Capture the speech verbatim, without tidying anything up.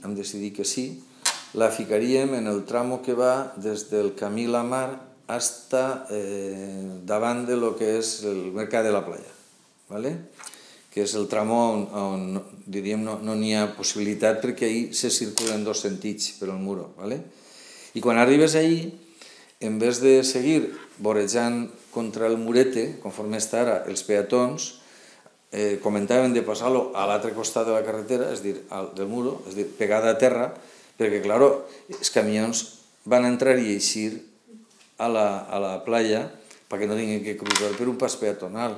hem decidit que sí, la ficaríem en el tramo que va des del camí La Mar hasta eh, davant de lo que és el Mercat de la Playa, ¿vale? Que és el tramo on, on diríem, no n'hi no ha possibilitat perquè ahir se circula en dos sentits per al muro. ¿Vale? I quan arribes ahir, en vez de seguir vorejant contra el murete, conforme està ara, els peatons, eh, comentaven de passar-lo a l'altre costat de la carretera, és dir, al, del muro, és dir, pegada a terra, perquè, clar, els camions van entrar i eixir a la, a la playa perquè no tinguin que cruzar per un pas peatonal.